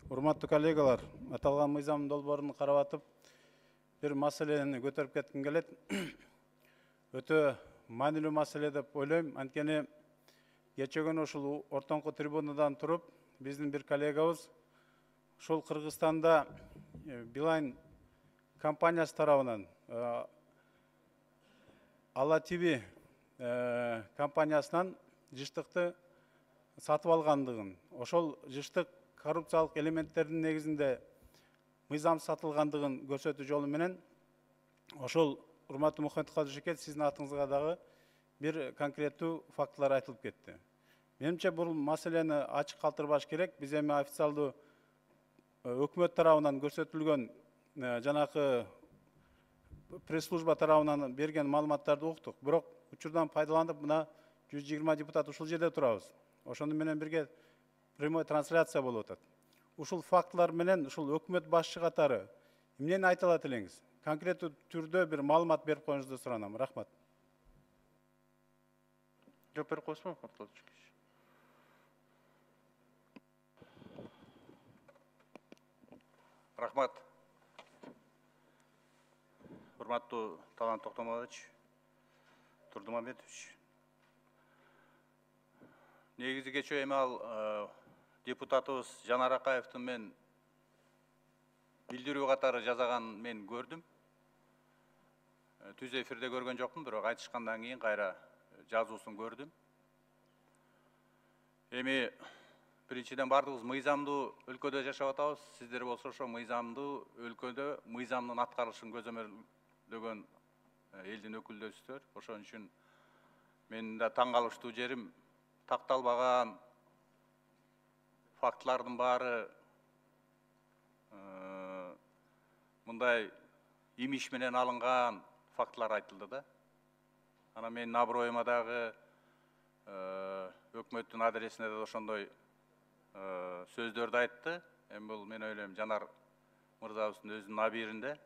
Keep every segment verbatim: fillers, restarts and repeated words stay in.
Урматтуу коллегалар, аталган мыйзам долбоорун карап атып, бир маселени көтөрүп кетким келет. Өтө маанилүү маселе деп ойлойм. Анткени кечээ күнү ушул ортоңку трибунадан туруп, биздин бир коллегабыз ушул Кыргызстанда Билайн компаниясы тарабынан Ала ТВ компаниясынан жыштыкты сатып алгандыгын, ошол жыштык коррупциялык элементтердин негизинде мыйзам сатылгандыгын көрсөтүү жолу менен ошол урматтуу Мухаммед Кадыршекет, сиздин атыңызга дагы бир конкреттүү фактылар айтылып кетти. Менимче бул маселени ачык калтырбаш керек. Биз эми официалдуу өкмөт тарабынан көрсөтүлгөн жанакы пресс-служба тарабынан берген маалыматтарды уктук. Бирок учурдан пайдаланып, мына жүз жыйырма депутат ушул жерде турабыз. Ошону менен бирге прямой трансляция болуп атат. Ушул фактылар менен ушул өкмөт башчы катары эмнени айта алат элеңиз? Конкреттүү түрдө бир маалымат берип коюңузду суранам. Рахмат. Жооп берип коесузбу? Рахмат. Урматтуу Талант Токтомолович, Турдумамбетович. Негизи кечээ эми ал депутатыбыз Жанар Акаевдин мен билдирүү катары жазаганын мен көрдүм. Түз эфирде көргөн жокмун, бирок айтышкандан кийин кайра жазуусун көрдүм. Эми биринчиден бардыгыбыз мыйзамдуу өлкөдө жашап атабыз. Сиздер болсо ошо мыйзамдуу өлкөдө мыйзамдын аткарылышын көзөмөлдөгөн элдин өкүлдөсүздөр. Ошон үчүн менин да таң калыштуу жерим, такталбаган фактылардын баары мындай имиш менен алынган фактылар айтылды да. Анан менин аброюма дагы өкмөттүн адресине да ошондой сөздөрдү айтты. Эми бул мен ойлойм Жанар мырзабыздын өзүнүн абийиринде.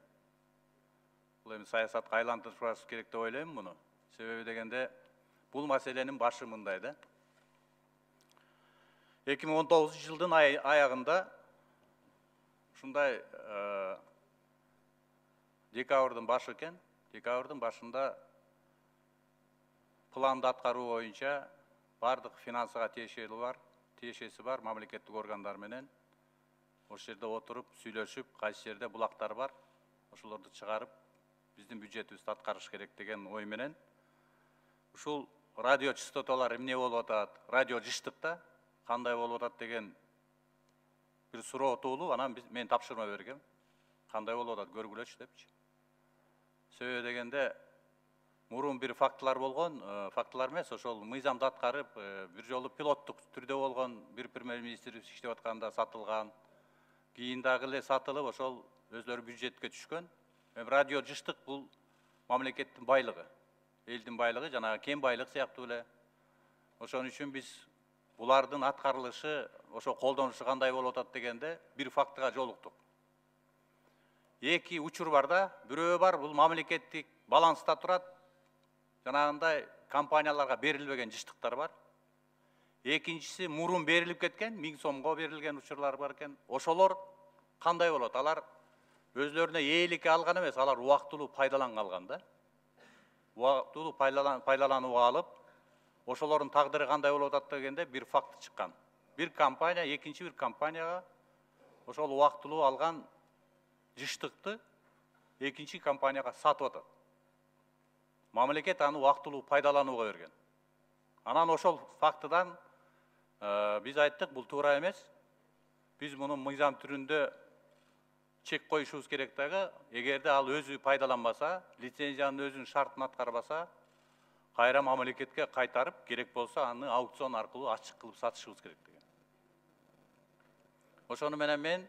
Бул эми саясатка айлантырышыбыз керек деп ойлойм муну. Себеби дегенде бул маселенин башы мындай да. эки миң он тогузунчу жылдын аягында ушундай декабрдын башы экен. Декабрдын башында планды аткаруу боюнча бардык финансыга тиешелүү бар, тиешеси бар мамлекеттик органдар менен ошол жерде отуруп, сүйлөшүп, кайсы жерде булактар бар, ошолорду чыгарып, биздин бюджетибизди аткарыш керек деген ой менен ушул радио частоталар эмне болуп атат, радио жыштыкта кандай болуп атат деген бир суроо туулуп, анан мен тапшырма бергем. Кандай болуп атат көргүлөчү депчи. Себеби дегенде мурун бир фактылар болгон, фактылар эмес, ошол мыйзамды аткарып, бир жолу пилоттук түрдө болгон, бир премьер-министрибиз иштеп атканда сатылган, кийин дагы эле сатылып, ошол өзлөрү бюджетке түшкөн. Эми радио жыштык бул мамлекеттин байлыгы, элдин байлыгы, жанагы кен байлык сыяктуу эле. Ошон үчүн биз булардын аткарылышы, ошо колдонушу кандай болуп атат дегенде бир фактыга жолуктук. Эки учур бар да, бирөө бар, бул мамлекеттик баланста турат, жанагындай компанияларга берилбеген жыштыктар бар. Экинчиси мурун берилип кеткен, миң сомго берилген учурлар бар экен. Ошолор кандай болот? Алар өзлөрүнө ээликке алган эмес, алар убактылуу пайдаланга алган да. Убактылуу пайдаланууга алып, ошолордун тагдыры кандай болуп атат дегенде бир факт чыккан. Бир компания экинчи бир компанияга ошол убактылуу алган жыштыкты экинчи компанияга сатып атат. Мамлекет аны убактылуу пайдаланууга берген. Анан ошол фактыдан биз айттык, бул туура эмес. Биз муну мыйзам түрүндө чек коюшубуз керек дагы, эгерде ал өзү пайдаланбаса, лицензиянын өзүнүн шартын аткарбаса, кайра мамлекетке кайтарып, керек болсо аны аукцион аркылуу ачык кылып сатышыбыз керек деген. Ошону менен мен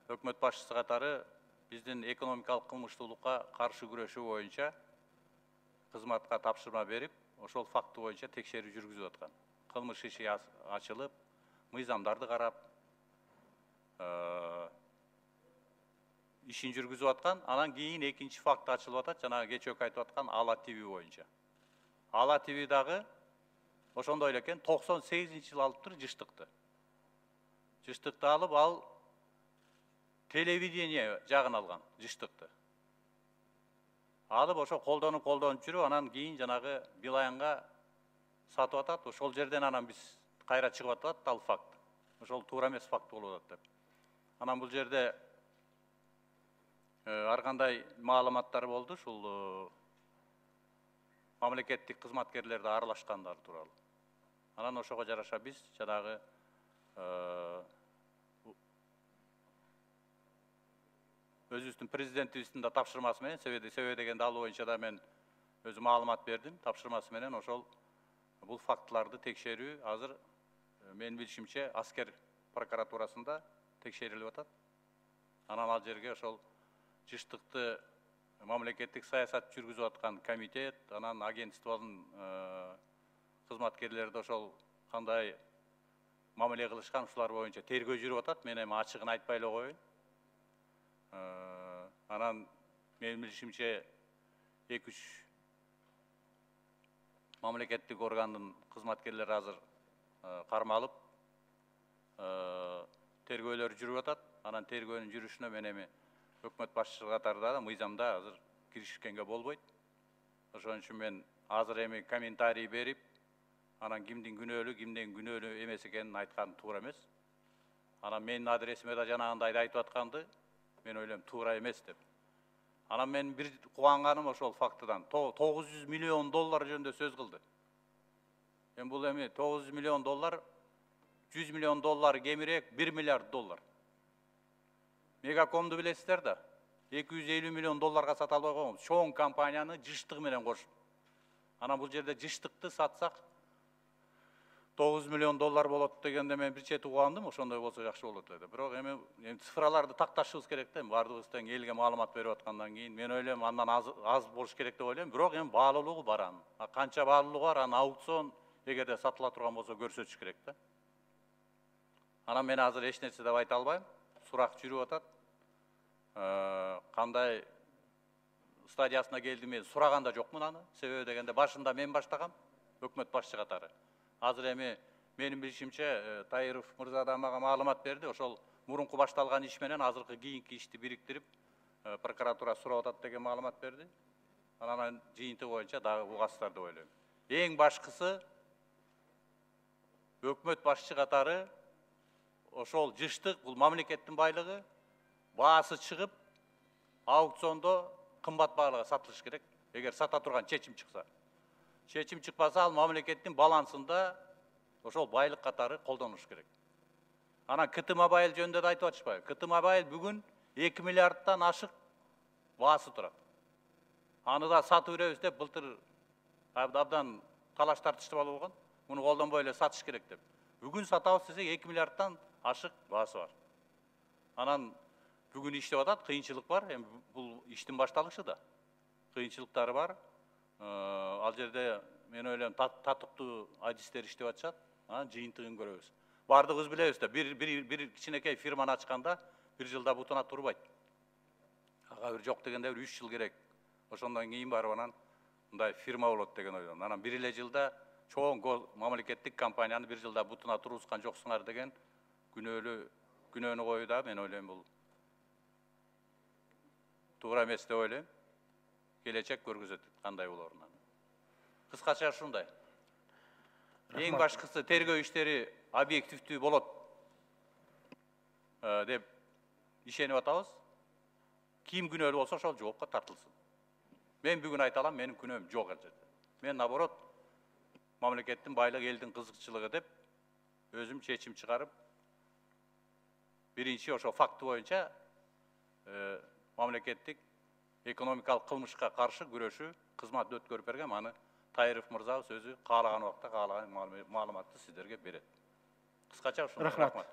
өкмөт башчысы катары биздин экономикалык кылмыштуулукка каршы күрөшүү боюнча кызматка тапшырма берип, ошол факты боюнча текшерүү жүргүзүп аткан. Кылмыш иши ачылып, мыйзамдарды карап, ишин жүргүзүп аткан. Анан кийин экинчи факт ачылып атат, жанагы кечөөкү айтып аткан Ала ТВ боюнча. Ала ТВ дагы ошондой эле экен, токсон сегизинчи жылы алыптыр жыштыкты. жыштыкты алып, ал телевидение жагын алган жыштыкты. Алып ошо колдонуп колдонуп жүрүп, анан кийин жанагы Билаянга сатып атат. Ошол жерден анан биз кайра чыгып атат, ал факт. Ошол туура эмес факт болуп атат деп. Анан бул жерде ар кандай маалыматтар болду, ушул мамлекеттик кызматкерлерди аралашкандары тууралуу. Анан ошого жараша биз жанагы өзүбүздүн президентибиздин да тапшырмасы менен, себеби дегенди ал боюнча да мен өзү маалымат бердим. Тапшырмасы менен ошол бул фактыларды текшерүү азыр менин билишимче аскер прокуратурасында текшерилип атат. Анан ал жерге ошол жыштыкты мамлекеттик саясат жүргүзүп аткан комитет, анан агентствонун кызматкерлери ошол кандай мамиле кылышкан, ушулар боюнча тергөө жүрүп атат. Мен эми ачыгын айтпай эле коеюн. Анан менин билишимче эки үч мамлекеттик органдын кызматкерлери азыр кармалып тергөөлөр жүрүп атат. Анан тергөөнүн жүрүшүнө мен эми өкмөт башчысы катарында да мыйзамда азыр киришкенге болбойт. Ошон үчүн мен азыр эми комментарий берип, анан кимдин күнөөлүү, кимдин күнөөлүү эмес экенин айткан туура эмес. Анан менин адресиме да жанагындай айтып атканды мен ойлойм туура эмес деп. Анан мен бир кубанганым ошол фактыдан тогуз жүз миллион доллар жөнүндө сөз кылды. Эми бул эми тогуз жүз миллион доллар, жүз миллион доллар кемирээк бир миллиард доллар. Мегакомду билесиздер да, эки жүз элүү миллион долларга сата албай койгонбуз. Чоң компанияны жыштыгы менен кошуп. Анан бул жерде жыштыкты сатсак тогуз миллион доллар болот дегенде мен бир чети угандым, ошондой болсо жакшы болот эле. Бирок эми цифраларды такташыбыз керек да, бардыгыбыз тең элге маалымат берип аткандан кийин мен ойлойм андан аз аз болуш керек деп ойлойм. Бирок эми баалуулугу бар анын. Канча баалуулугу бар, анын аукцион эгерде сатыла турган болсо көрсөтүш керек да. Анан мен азыр эч нерсе деп айта албайм. Сурак жүрүп атат. Кандай стадиясына келди мен сураган да жокмун аны. Себеби дегенде башында мен баштагам, өкмөт башчы катары. Азыр эми менин билишимче Таиров мырза да мага маалымат берди. Ошол мурунку башталган иш менен азыркы кийинки ишти бириктирип прокуратура сурап атат деген маалымат берди. Анан жыйынты боюнча дагы угасыздар деп ойлойм. Эң башкысы өкмөт башчы катары ошол жыштык, бул мамлекеттин байлыгы, баасы чыгып, аукциондо кымбат баалага сатылыш керек. Эгер сата турган чечим чыкса. Чечим чыкпаса, ал мамлекеттин балансында ошол байлык катары колдонулуш керек. Анан КТ Мобайл жөнүндө да айтып атышпайбы? КТ Мобайл бүгүн эки миллиардтан ашык баасы турат. Аны да сатып беребиз деп былтыр абдан талаш тартыштып алып болгон. Муну колдонбой эле сатыш керек деп. Бүгүн сатабыз десек эки миллиардтан ашык баасы бар. Анан бүгүн иштеп атат, кыйынчылык бар. Эми бул иштин башталышы да. Кыйынчылыктары бар. Ал жерде мен ойлойм татыктуу адистер иштеп атышат. Анан жыйынтыгын көрөбүз. Бардыгыбыз билебиз да, бир бир бир кичинекей фирманы ачканда бир жылда бутуна турбайт. Ага бир жок дегенде бир үч жыл керек. Ошондон кийин барып анан мындай фирма болот деген ойлойм. Анан бир эле жылда чоң мамлекеттик компанияны бир жылда бутуна тургузган жоксуңар деген күнөөлүү күнөөнү коюуда мен ойлойм бул туура эмес деп ойлойм. Келечек көргөзөт кандай болоорун. Кыскача ушундай. Эң башкысы тергөө иштери объективдүү болот деп ишенип атабыз. Ким күнөөлүү болсо ошол жоопко тартылсын. Мен бүгүн айта алам, менин күнөөм жок ал жерде. Мен наоборот мамлекеттин байлыгы, элдин кызыкчылыгы деп өзүм чечим чыгарып, биринчи ошо факты боюнча мамлекеттик экономикалык кылмышка каршы күрөшүү кызмат өткөрүп берген. Аны Таиров мырзабыз өзү каалаган убакта каалаган маалыматты сиздерге берет. Кыскача ушундай. Рахмат.